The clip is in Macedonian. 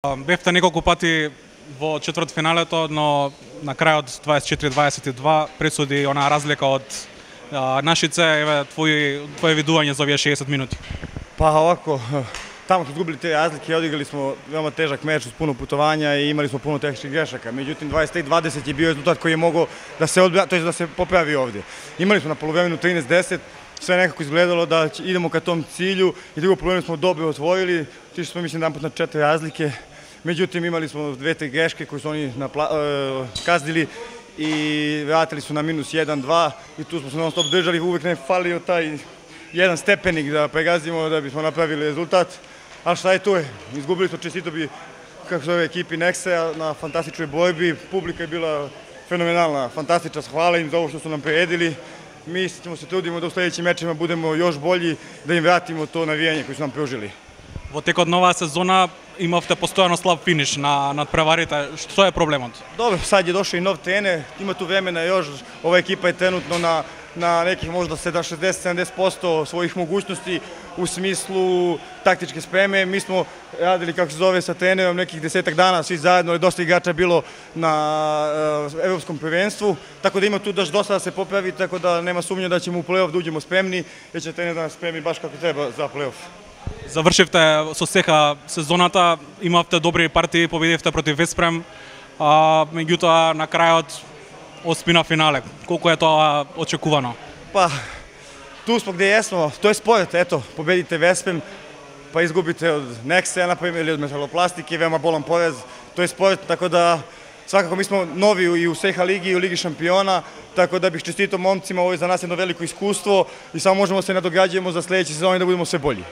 Бевте неколку пати во четвртфиналето, но на крајот 24-22 пресуди онаа разлика од Нашице. Еве твое видување за овие 60 минути. Па овако, тамо што изгубили те разлики, одиграли смо веома тежак меч со пуно путовања и имали смо пуно технички грешака. Меѓутоа 23-20 е био резултат кој е могол да се одбра, тоест да се поправи овде. Имали смо на полувремено 13-10, све некако изгледало да идемо ka том циљу и друго полувреме смо добро отворили, тишли смо мислам еднапут на 4 разлike. Меѓутоа имали смо две-три грешки кои се они казнили и вратили су на минус 1-2 и ту смо се нон-стоп држали, увек не фалио тај еден степеник да прегазимо да бисмо направили резултат. А шта е тоа? Изгубили смо честито би како се екипи Нексе на фантастични борби, публика е била феноменална, фантастична, хвала им за ово што су нам приредили. Mi ćemo se trudimo da u sledećim mečima budemo još bolji, da im vratimo to navijanje koje su nam pružili. Во текот на оваа сезона имавте постојано слаб финиш на надпреварите. Што е проблемот? Добро, сад je došao i nov trener, ima tu vremena još, ova ekipa je trenutno na nekih možda 60-70% svojih mogućnosti u smislu taktičke spreme. Mi smo radili, kako se zove, sa trenerom nekih 10 dana, svi zajedno, je dosta igrača bilo na evropskom prvenstvu, tako da ima tu dosta da se popravi, tako da nema sumnje da ćemo u play-off da uđemo spremni, jer će trener da nas spremi baš kako treba za play-off. Завршивте со сеха сезоната, имавте добри партии, победивте против Веспрем, меѓутоа на крајот оспина финале. Колку е тоа очекувано? Па, tu smo gde jesmo, to je sport, eto, pobedite Vespem, pa izgubite od Nexe, naprimjer, ili od Metaloplastike, veoma bolan poraz, to je sport, tako da svakako mi smo novi i u Seha ligi i u Ligi šampiona, tako da bih čestito momcima, ovo je za nas jedno veliko iskustvo i samo možemo se nadograđujemo za sledeće sezone da budemo sve bolji.